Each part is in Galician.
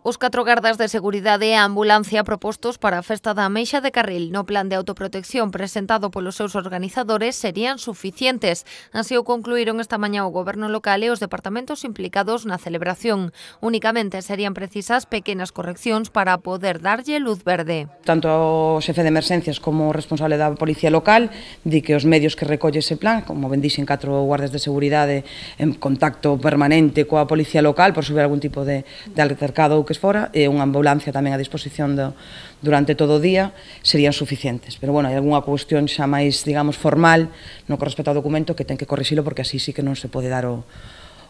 Os 4 gardas de seguridade e a ambulancia propostos para a festa da Ameixa de Carril no plan de autoprotección presentado polos seus organizadores serían suficientes. Así o concluíron esta mañá o Goberno local e os departamentos implicados na celebración. Únicamente serían precisas pequenas correccións para poder darlle luz verde. Tanto o xefe de emerxencias como o responsable da Policía Local di que os medios que recolle ese plan, como ben dixen 4 guardas de seguridade en contacto permanente coa Policía Local por subir algún tipo de altercado ou que fora, e unha ambulancia tamén a disposición durante todo o día, serían suficientes. Pero, bueno, hai algunha cuestión xa máis, digamos, formal no que respecta ao documento que ten que corrixilo porque así sí que non se pode dar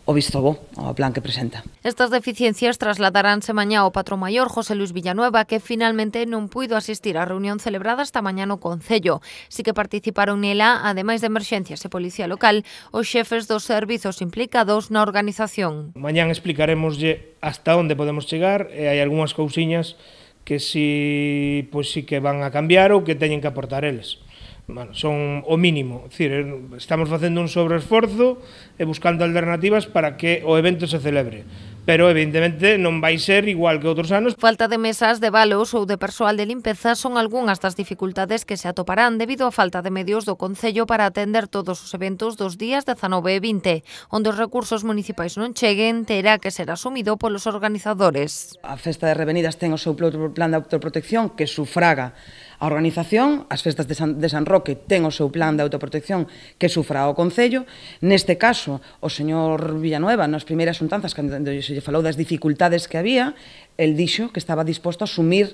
o visto bo ao plan que presenta. Estas deficiencias trasladaránse mañá ao patrón maior José Luis Villanueva, que finalmente non puido asistir á reunión celebrada esta mañá no Concello. Si que participaron nela, ademais de emerxencias e Policía Local, os xefes dos servizos implicados na organización. Mañán explicaremoslle hasta onde podemos chegar e hai algunhas cousiñas que si que van a cambiar ou que teñen que aportar eles. Bueno, son o mínimo, é dicir, estamos facendo un sobreesforzo e buscando alternativas para que o evento se celebre, pero evidentemente non vai ser igual que outros anos. Falta de mesas, de balos ou de persoal de limpeza son algunhas das dificultades que se atoparán debido á falta de medios do Concello para atender todos os eventos dos días 19 e 20, onde os recursos municipais non cheguen, terá que ser asumido polos organizadores. A Festa de Revenidas ten o seu plan de autoprotección que sufraga a organización, as festas de San Roque ten o seu plan de autoprotección que sufra o Concello. Neste caso, o señor Villanueva, nas primeiras xuntanzas, cando se lle falou das dificultades que había, el dixo que estaba disposto a asumir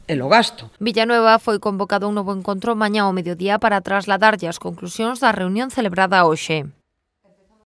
o gasto. Villanueva foi convocado a un novo encontro mañá ao mediodía para trasladarlle as conclusións da reunión celebrada hoxe.